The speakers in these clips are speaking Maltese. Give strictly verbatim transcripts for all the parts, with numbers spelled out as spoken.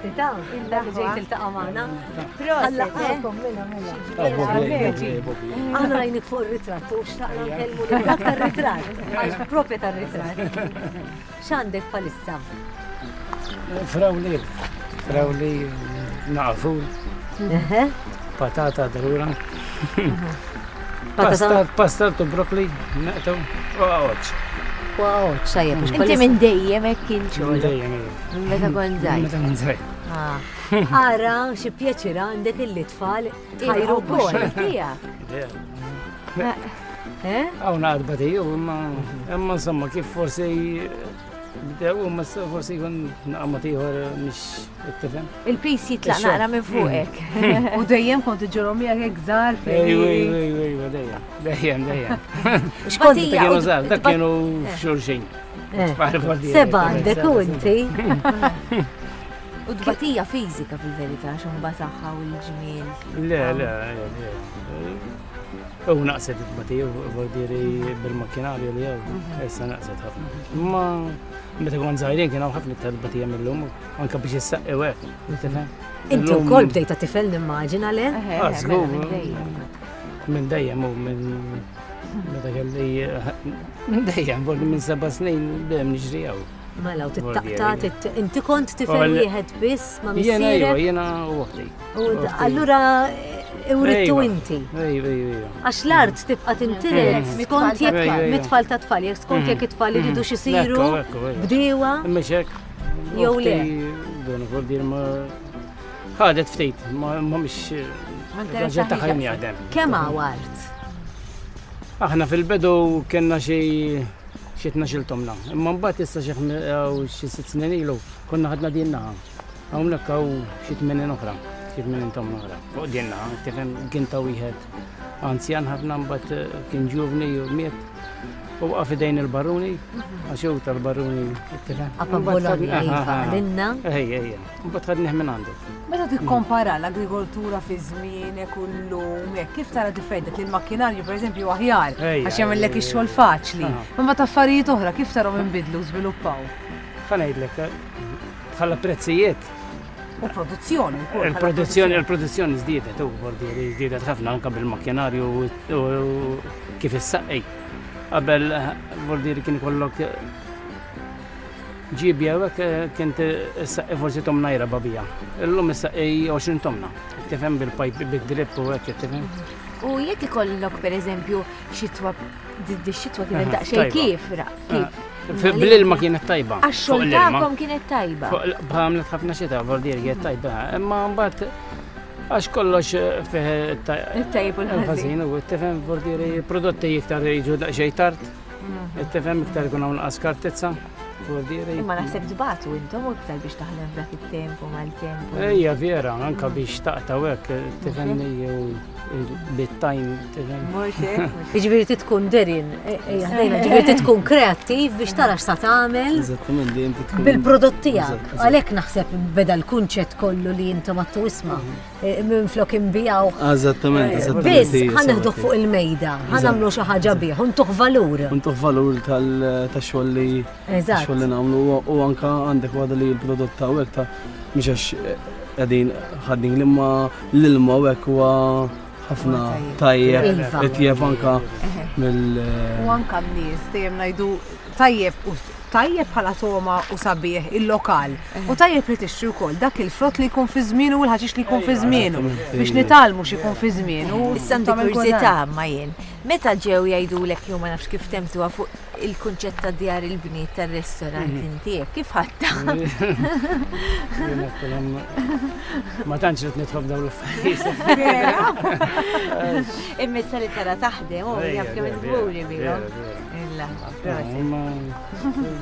Grazzi ta' li ġejt tiltaqa' magħna. Proset. Mela, mela. Aħna rajnik fuq ir-ritratt u xtaqna nkellmu lil dak tar-ritratt, għax propja tar-ritratt. X'għandek bħalissa? Frawli, frawli nafu, patata darura. Pasta, pasta u brokli, naqtu, u għoċ. U għoċ, tajjeb. Inti minn dejjem hekk kien xogħol. Minn dejjem, Minn meta kont żgħir. Meta kont żgħir. Ara, xi pjaċir għandek illi tfal tħajru wkoll. Tiegħek. Hawn għadba tiegħu, imma imma insomma kif forsi bdew imma forsi jkun naqamot ieħor mhix tifhem. Il-pis jitlaq naqra minn fuqek. U dejjem kont iġorhom miegħek hekk żgħar Ejwa, ejwa, ejwa, dejjem, dejjem, dejjem. X'kont Kienu żgħar, dak kienu xulxin. Seba' għandek u inti. U tbatija fiżika fil-verità xumba tagħha u l-ġmiel. Le, le, le. U naqset it-tbatija, vuol bil-makkinarju li għaw, issa naqset ħafna. Ma meta kont żgħirin kien hawn ħafna iktar tbatija mill-lum, anke biex issaqqi hekk, tifhem? Inti wkoll bdejta tifel nimmaġina le? Ah, żgur. Minn dejjem u minn meta kelli minn dejjem, vuol minn seba' snin dejjem niġri hawn. Mela, u tittaqta, inti kont tifel wieħed biss ma' Jiena missierek. ejwa, jiena u oħti. U allura urittu inti. Ejwa, ejwa. Għax l-art tibqa' tintiret skont jekk Ejwa, ejwa. mit-tfal ta' tfal, jekk skont jekk it-tfal iridu xisiru Ekku, ekku, ejwa. bdiewa. Imma xek. Jew le. Dun vuol dir ma ħadet ftit, ma mhix raġel ta' ħajm jaħdem. Kemm hawn art? Aħna fil-bidu kellna xi xi tnax-il tomna. Imma mbagħad issa xi xi sitt snin ilu konna ħadna din naħa. Hawnhekk hawn xi tmenin oħra, xi tmenin tomna oħra. Fuq din naħa, tifhem kien ta' wieħed anzjan ħafna mbagħad kien ġuvni u miet. U waqa' f'idejn il-baruni, għax hu tal-baruni, tifhem. Apa Bologna, iva, għalinna. Ejja, ejja. Mbagħad ħadnih minn għandu. Meta tikkompara l-agrikoltura fi żmienek u llum, hekk kif tara differenti li l-makkinarju pereżempju aħjar Ejja, għax jagħmellek ejja, ix-xogħol faċli. Aha. Imma ta' affarijiet oħra kif tarahom inbidlu u żviluppaw? Ħa ngħidlek, bħala prezzijiet, U produzzjoni wkoll. bħala il-produzzjoni il-produzzjoni żdiedet u vuol żdiedet ħafna anke bil-makkinarju u kif issaqqi. Qabel vuol dire kien ikollok ġibja u hekk kien issaqqi forsi tomna jraba bija. Illum issaqqi għoxrin tomna. Tifhem bil-pajp bid-drip u hekk tifhem. U jekk ikollok pereżempju xitwa di xitwa kienet Aha, daqsxejn tajba. kif ra kif. Bl-ilma kienet tajba. Għax fuq xogħol l-ilma. tagħkom kienet tajba. Fuq Bħamlet ħafna xita, vuol dire kienet tajba. Imma mbagħad għax kollox fih It-tajjeb u l-ħażin. il-ħażin u tifhem vuol dire prodotti iktar jiġu daqsxejn tard. Tifhem iktar ikun hawn naqas kartizza. Vuol dire. Imma naħseb tbatu intom iktar biex taħdem f'dak it-temp u mal-temp. Ejja vera, anka biex taqta' hekk tifhem jew bit-tajn tifhem. Mhux hekk, mhux Jiġifieri ti tkun derin, ejja ħdejna, ġifieri ti tkun kreattiv biex tara x'sa tagħmel Eżattament, dejjem tkun bil-prodott tiegħek. Eżatt, eżatt. Għalhekk naħseb beda l-kunċett kollu li intom għattu isma' minn flok inbijaw. Eżattament, eżattament. Biss hija ħa neħduh sabati. fuq il-mejda, ħa nagħmlu xi ħaġa bih, untuh valur. Untuh valur tal-xogħol li Eżatt. xogħol li nagħmlu u anka għandek waħda li l-prodott ta' hekk ta' mhux għax qegħdin ħaddin l-imma l-ilma u hekk huwa ħafna tajjeb, Iva. itjeb anka mill U anka n-nies dejjem ngħidu tajjeb u tajjeb bħala toma u sabiħ il-lokal. U tajjeb li tixtri wkoll dak il-frott li jkun fi żmienu u l-ħaxix li jkun fi żmienu biex nitgħallmu x'ikun fi żmienu. Issa għandi tagħmel kurżità ma jien. Meta ġew jgħidulek jew ma nafx kif temtuha fuq il-kunċett ta' djar il-bniet tar-restorant inti hekk, kif ħadta? Jien għedtilhom, Ma tantx rid nidħol f'dawn l-affarijiet. Imma issa li tara taħdem u Ejja, jaf kemm vera, il-gburi vera, bihom. vera. Illa, proset. Imma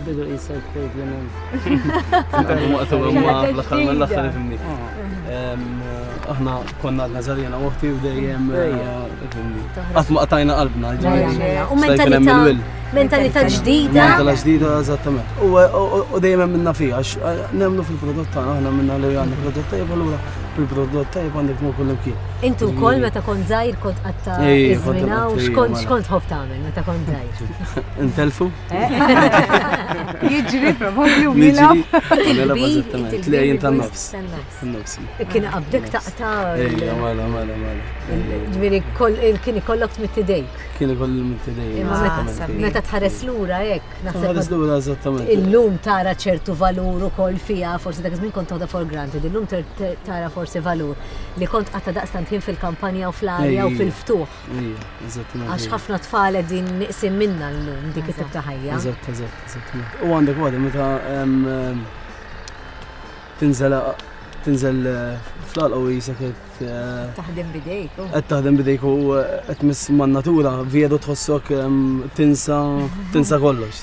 bidu qisek tgħid li Waqtu imma fl-aħħar mill-aħħar ifhimni. Ah. Em, Aħna konna għadna żgħar u oħti u dejjem Ejja. ifhimni. Qatt ma qtajna qalbna, Mela, ġifieri. mela. U Sta jkun hemm mentalità il-will. mentalità ġdida. Mentalità ġdida, eżattament. U u- u dejjem minna fija, għax eh, nemmnu fil-prodott tagħna, aħna minna li għandna prodott tajjeb, allura bil-prodott tajjeb għandek tmur kull imkien. Intu wkoll meta kont żgħir kont qatta iż-żmien u x'kont x'kont tħobb tagħmel meta kont żgħir? Intelfu? Jiġri probabbli u jilgħab. Tlejjin tan-nofs. Kien qabdek taqta'. Ejja, mela, mela, mela. Ġifieri kien ikollok tmidd idejk. Kien ikolli tmidd idejk. Meta tħares lura hekk, naħseb. Tħares lura eżattament. Illum tara ċertu valur ukoll fiha, forsi dak iż-żmien kont toħodha for granted, illum tara forsi valur li kont qatta' daqstant ħin fil-kampanja u fl-arja u fil-ftuħ. Għax ħafna tfal qegħdin niqsim minna llum dik it-tip ta' ħajja. Eżatt, eżatt, eżattament. U għandek waħda meta tinżel tinżel fl-għalqa u jisek qed taħdem bidejk. Qed taħdem bidejk u qed tmiss man-natura veru tħossok tinsa tinsa kollox.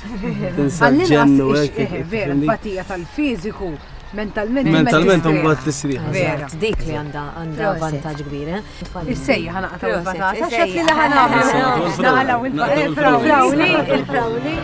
Tinsa ġenn u hekk. Vera, empatija tal-fiżiku. Mentalment. Mentalment mbagħad tisriħ. Vera. Dik li għandha għandha vantaġġ kbir, eh? Is-sejja ħa naqtgħu il-patata. X'qed li ħa nagħmlu? Naqalgħu il-frawli, il-frawli.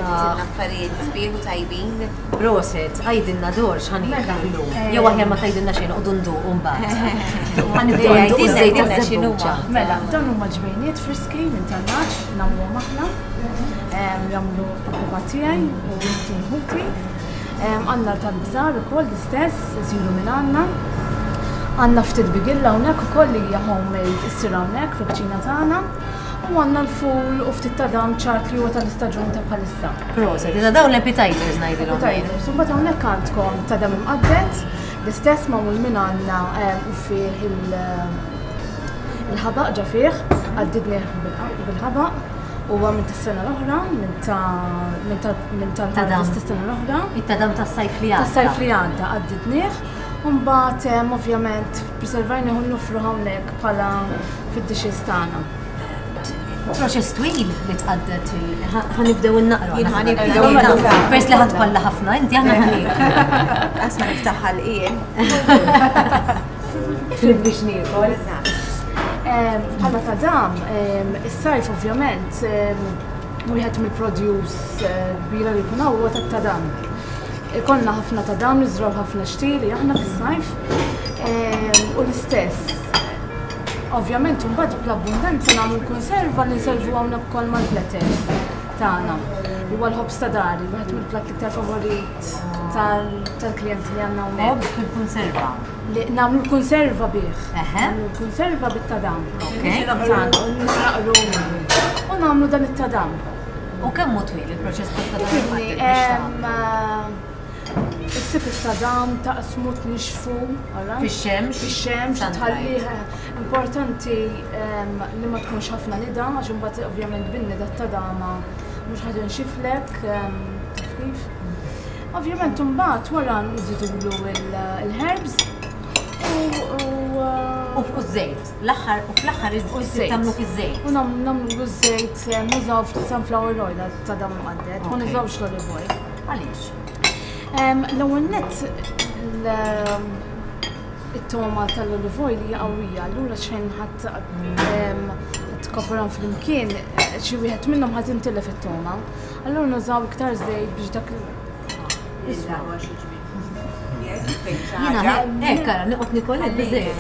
Affarijiet sbieħ u tajbin. Proset, għajdilna dor x'ħa nieklu llum. Jew aħjar ma tgħidilna xejn noqogħdu nduqu mbagħad. Ħa nibdew nduqu żejt taż-żebbuġa. Mela, dawn huma ġbejniet friski minn tan-naċ nagħmluhom aħna. Jagħmlu l-ħuba tiegħi u inti ħuti. Għandna tal-bżar ukoll l-istess, isiru minn għandna. Għandna ftit bigilla hawnhekk ukoll li hija homemade issir hawnhekk fil-kċina tagħna. U għandna l-ful u ftit ta' dam ċart li huwa tal-istaġun ta' bħalissa. Proset, iżda dawn l-appetizers ngħidilhom. Appetizers, u mbagħad hawnhekk għandkom ta' dam imqadded, l-istess magħmul minn għandna u fih il-ħabaq ġa fih, għaddidnieh bil-ħabaq, huwa minn tas-sena l-oħra, minn ta' minn tas-sena l-oħra. It-tadam tas-sajf li għadda. Tas-sajf li għadda għaddidnieh. U mbagħad ovvjament preservajnieh u nofru hawnhekk bħala fid-dishes tagħna. Proċess twil li tqaddet il... Ħa nibdew innaqru. Jien ħa nibdew innaqru. Pers li ħadd kollha ħafna, inti aħna ħniek. Asma niftaħ ħalqien. Fil biex niekol. Bħala ta' dam, is-sajf ovvjament, wieħed mill-produce kbira li jkun hawn huwa tat-tadam. Ikollna ħafna tadam, niżraw ħafna xtieli aħna fis-sajf. U l-istess. Ovvjament, mbagħad bl-abbundanza nagħmlu l-konserva li nservu hawnhekk ukoll mal-platters tagħna. Huwa l-ħobż ta' dari, wieħed mill-platt l-iktar favorit tal-klijenti li għandna hawnhekk. Ħobż bil-konserva. Li nagħmlu l-konserva bih. Nagħmlu l-konserva bit-tadam. Naqru u nagħmlu dan it-tadam. U kemm hu twil il-proċess tat-tadam? Issib it-tadam, taqsmu, tnixxfu, Fix-xemx. Fix-xemx, tħallih. Importanti li ma tkunx ħafna nida, għax imbagħad ovvjament bin-nida t-tadama mhux ħa tinxiflek, taf kif. Ovvjament imbagħad wara nżidulu l-herbs u U żejt, l-aħħar u fl-aħħar iż-żejt tagħmlu fiż-żejt. U nagħmlu ż-żejt, nużaw ftit sunflower oil tadam mqadded, ma nużawx l-olive oil. Għaliex? L-ewwel nett it-toma tal-olive oil hija qawwija, allura xejn ħadd tinkorporahom flimkien, xi wieħed minnhom ħadd intilef it-togħma. Allura nużaw iktar żejt biex dak Jiena hekk ara noqgħod nikol hekk biżejjed.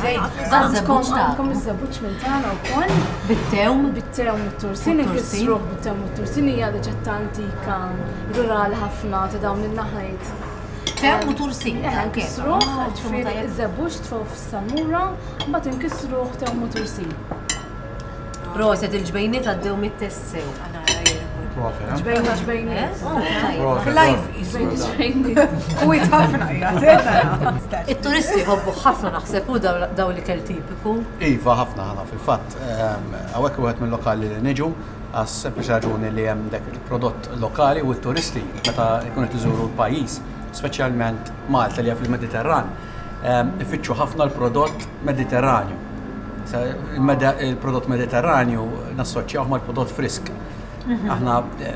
Għandkom iż-żebbuġ minn tagħna wkoll. Bit-tewm? Bit-tewm u t-tursin, inkissruh bit-tewm u t-tursin hija riċetta antika, rurali ħafna ta' dawn in-naħajt. Tewm u tursin. Nkissruh, ġifieri iż-żebbuġ tfgħu fis-salmura, mbagħad inkissruh tewm u tursin. Proset il-ġbejniet għaddew mit-test sew. Ġbejna ġbejniet. Live ġbejniet. U ħafna It-turisti jħobbu ħafna naħseb u daw l-ikel tipiku. Iva ħafna ħana fil-fatt. Hawnhekk wieħed mill-lokali li niġu għas sempliċi raġuni li hemm dak il-prodott lokali u t-turisti meta jkunu qed iżuru l-pajjiż, speċjalment Malta li hija fil-Mediterran, ifittxu ħafna l-prodott Mediterranju. Il-prodott Mediterranju nassoċjawh mal-prodott frisk. Aħna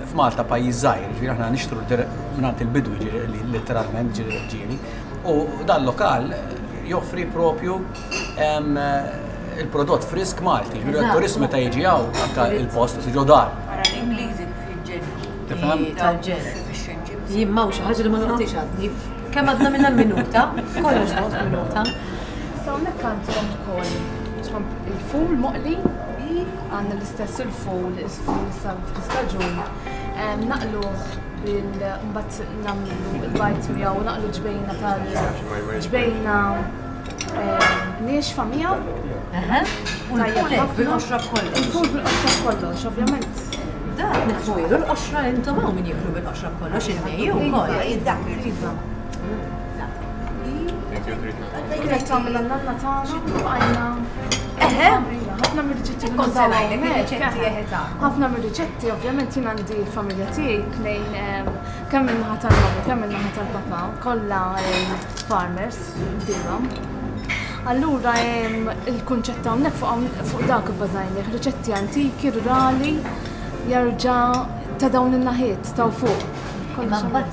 f'Malta pajjiż żgħir, ġifieri aħna nixtru mingħand il-bidwi letteralment ġieli. U dan lokal joffri propju il-prodott frisk Malti. Ġifieri t-turist meta jiġi hawn anke il-post ġo dar. Ara l-Ingliżi kif jiġġennu. Tifhem? Tal-ġen. Jien m'hawn xi ħaġa li ma noqgħodx għadni. Kemm għadna minna minuta, kollox noqgħod minuta. Issa hawnhekk għandkom ukoll il-ful moqli. Għandna l-istess il-ful, il-ful issa fl-istaġun. Naqluh bil-mbagħad nagħmlu l-bajt miegħu, naqlu ġbejna tal ġbejna niexfa miegħu. U l-ful bil-qoxra b'kollox. Il-ful bil-qoxra b'kollox, ovvjament. Dak nitfujilu l-qoxra intom hawn min jieklu bil-qoxra b'kollox il-mejju wkoll. Dak iva. Kienet tagħmel n-nanna tagħna bqajna. Eħe. Ħafna mir-riċetti li nużaw hawnhekk. Ħafna mir-riċetti ovvjament jien għandi l-familja tiegħi tnejn kemm min-naħa tal-mamma kemm min-naħa tal-papà, kollha farmers bdiewa. Allura il-kunċett hawnhekk fuq dak ibbażajnieh, riċetti antiki, rurali, jerġa' ta' dawn in-naħiet ta' fuq. Imma mbagħad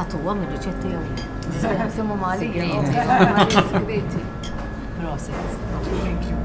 tagħtuhom ir-riċetti jew le? Semmu Malija. Proset. Thank you.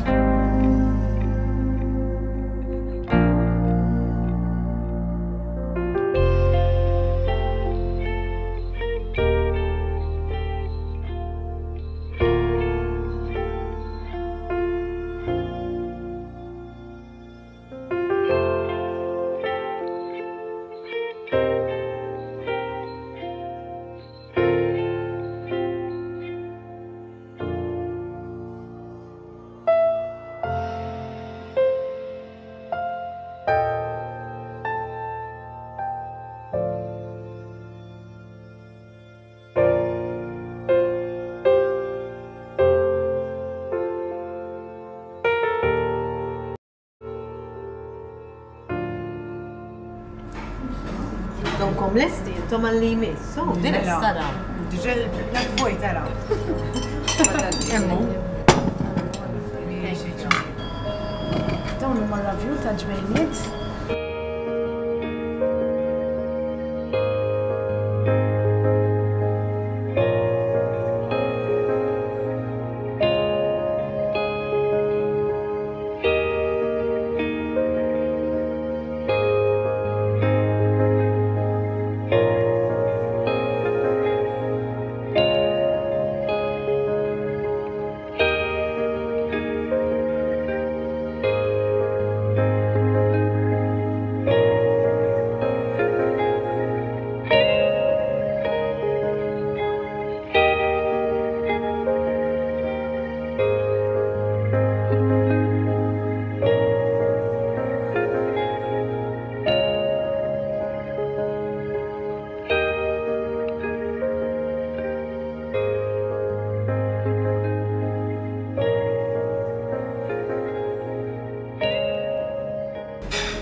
Donkom lesti, intom għalli jmiss. So, din tara. Diġà il-plat vojt tara. Emmu. Dawn huma ravjul ta' ġbejniet.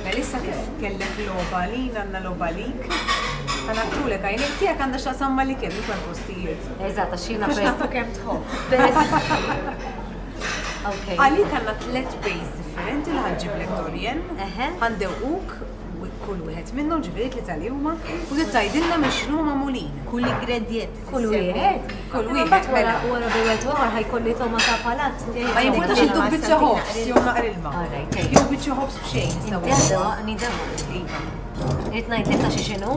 Melissa kif kellek logħba lina għandna logħba lik. Ħanattulek għajnejk tiegħek għandha x'taqsam mal-ikel mhux mal-postijiet. Eżatt, għax jiena Għax peress. nafu kemm tħobb. Okay. Għalik għandna tliet base differenti li ħanġiblek Dorian. Eħe. Ħandewquk Kull wieħed minnhom ġifieri tlieta li huma u tgħidilna minn x'inhu magħmulin. Kull ingredient. Kull wieħed. Kull Imma wieħed, mbagħad wara mela. wara bejwet ieħor ħajkolli toma ta' palat. Ma jimpurtax intu biċċa ħobż jew naqra ilma. Alright, ejja. Jew biċċa ħobż b'xejn nistgħu. Inti għadha nidaw. Iva. Irid ngħidlek ta' xi x'inhu?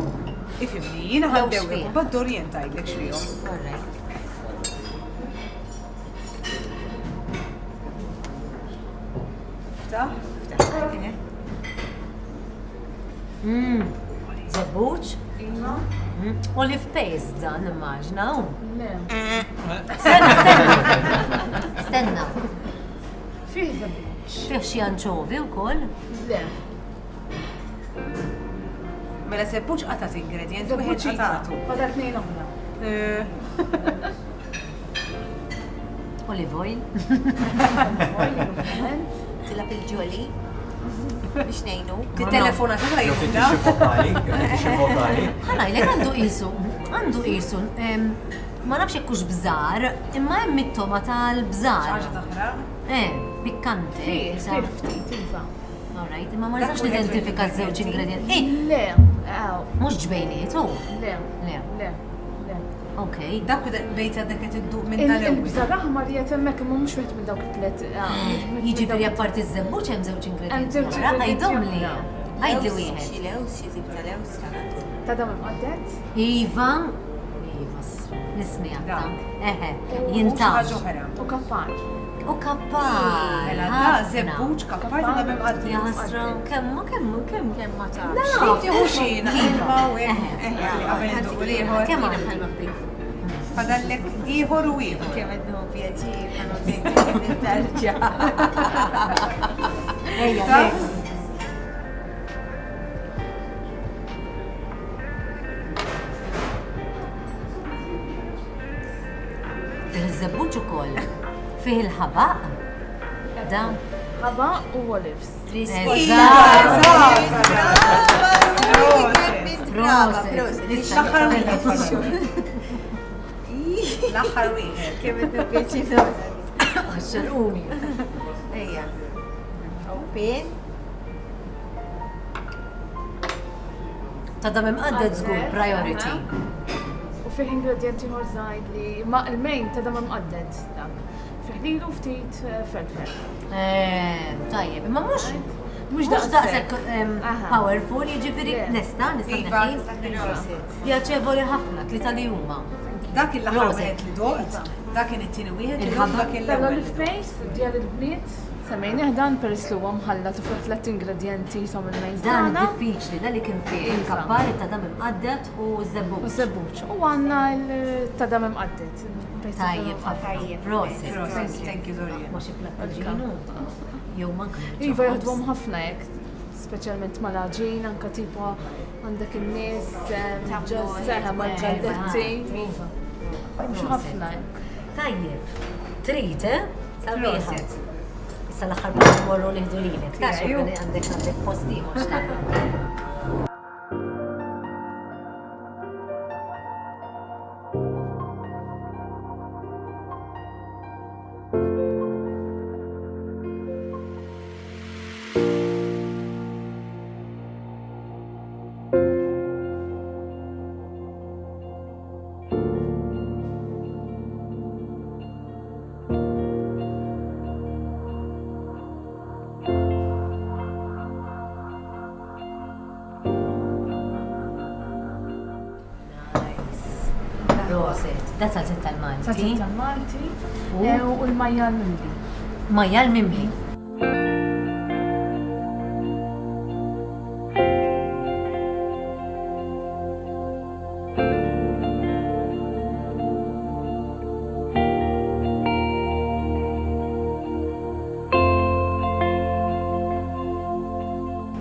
Ifhimni, jiena Jew ħaddewlek x'fih. u mbagħad Dorien tgħidlek x'fihom. Alright. Ftaħ. Żebbuġ? Iva. Olive paste dan immaġna. hu. Le. Stenna, stenna. Stenna. Fih żebbuġ. Fih xi anċovi wkoll. Le. Mela żebbuġ qatat ingredient wieħed Żebbuġ iva. qatatu. Fadal tnejn oħra. Eh, Olive oil. Oil, ovvjament. Tilab il-ġoli biex ngħinu. Tittelefona ta' Jew jibda. titixi vokali, jew titixi vokali. Ħanajlek għandu qisu, għandu qisu, em, ma nafx jekk hux bżar, imma hemm it-toma tal-bżar. Ħaġa taħraq. Eh, pikkante. Fih, sa- fih ftit, iva. Alright, imma ma Dak nistax wieħed nidentifika mill-ingredienti. ż-żewġ ingredienti. Eh, Le, aw, mhux ġbejniet, hu. le, Le, le, le. ok. Dak bejt għadek qed idduq minn tal-ewwel. Il-bżar aħmar li qed hemmhekk imma mhux wieħed minn dawk it-tliet. ah, mhux minn Jiġifieri dawk apparti ż-żebbuġ hemm żewġ Hemm ingredienti. żewġ oħra. ingredienti Għidhom li. oħra. Għidli Lews, wieħed. Xi lews, xi tip ta' lews ta' Ta' dam imqadded. Iva, Iva, nismi għatta. Dak. Eħe, U xi jintax. ħaġa oħra. U kappar. U kappar. Mela da ħafna. żebbuġ kappar ta' dam imqadded. Ja ħasra, kemm, kemm, kemm. Kemm ma tafx. Ftit tieħu xi ilma u hekk. Eh, qabel idduq l-ieħor. Kemm għandek? Fadallek ieħor u ieħor. Kemm qed nieħu pjaċir bħalma bdejt tarġa. Ejja, Ta' next. Fih iż-żebbuġ ukoll. Fih il-ħabaq. Dan. Ħaba u olives. Eżatt. Brava, Proset. proset. Issa L-aħħar wieħed. L-aħħar wieħed. Kemm qed nieħu pjaċir. Xerquni. Ejja. Open. Ta' dam imqadded żgur priority. U fih ingredienti ieħor żgħid li ma il-main ta' dam imqadded dak. Fih lilu ftit eh, felfel. Eh, Tajjeb, imma mhux Mhux mhux daqshekk em, Aha. powerful, jiġifieri Le. nista' nista' Iva, neħi. tista' tneħħi. Pjaċevoli ħafna, tlieta li huma. Dak il-aħħar Proset. wieħed li doqt, dak kien it-tieni wieħed li doqt, Il-ħabba. dak kien l-ewwel. L-olive paste, djar il-bniet, semmejnieh dan peress li huwa mħallat u fih tliet ingredjenti jisom il-mains Dan tagħna. diffiċli, dan li kien fih Iva. il-kappar, ta' dam imqadded u U żebbuġ. żebbuġ. U għandna ta' dam imqadded. Tajjeb ħafna. Tajjeb. Proset. Proset, thank you Dorian. Ma xi plattaġinu. Jew manka. Iva jaħdmuhom ħafna hekk, speċjalment mal-għaġin, anka tipo għandek in-nies, just seħa mal-ġalletti. Iva. Jimxu ħafna hekk. Tajjeb. Trid, eh? Sabiħa. Proset. Issa l-aħħar pass morru nieħdu lilek. Ta' Iju. għandek għandek post ieħor x'tagħmel. Nice. Proset. Da salzett tal-Malti. Salzett tal-Malti U? eh, u l-majjal mimli. Majjal mimli.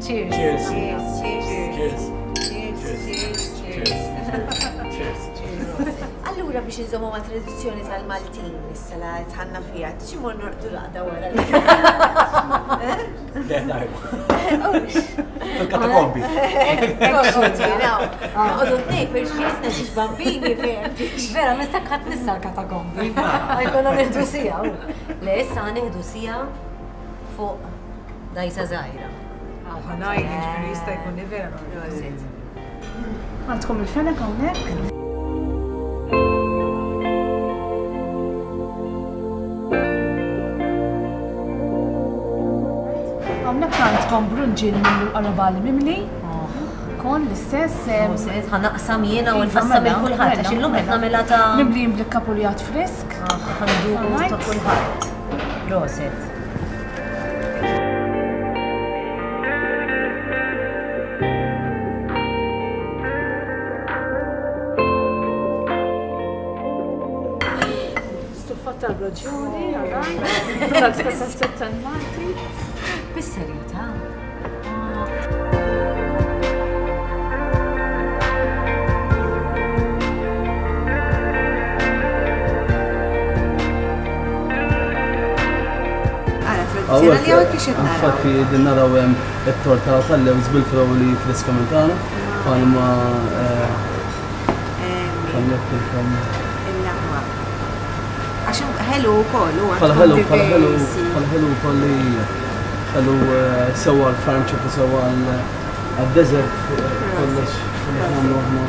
Cheers. Cheers. Cheers, cheers. Cheers. Cheers, cheers, cheers. Cheers. Cheers. Allura biex inżommu ma' tradizzjoni tal-Maltin issa la tħanna fija, xi mor norqdu raqda wara. Le, tajba. Fil-katakombi. Noqogħdu tnejn per xi jisna xi bambini fejn. Vera, mistak ħadd nissa l-katakombi. Għajkonna nieħdu sija. u. Le, issa nieħdu sija fuq dajsa żgħira. Ħanajn, ġifieri jista' jkun li vera. Għandkom il-fenek hawnhekk. Hawnhekk għandkom brunġil mill-qarabali mimli. Kon l-istess. Proset, ħa naqsam jiena u nfassam Mela, il kulħadd għax illum qed nagħmilha ta' Mimlijin bl-kapuljat frisk. ħa nduqu ta' kulħadd. Proset. Stuffat tal-broġjoni, għalajt. Tal-Malti. Bis-serjetà. Ara, tradizzjonali hawnhekk kif qed naraw. Infatti din naraw hemm it-torta tal-lewż bil-frawli friska minn tagħna bħalma eh, bħalma qedtilkom. Il-laħma. Għax ħelu wkoll u Bħala ħelu, bħala ħelu, bħala ħelu wkoll li ħelu eh, sewwa l-farm chip u sewwa għad-desert kollox kollox nagħmlu aħna.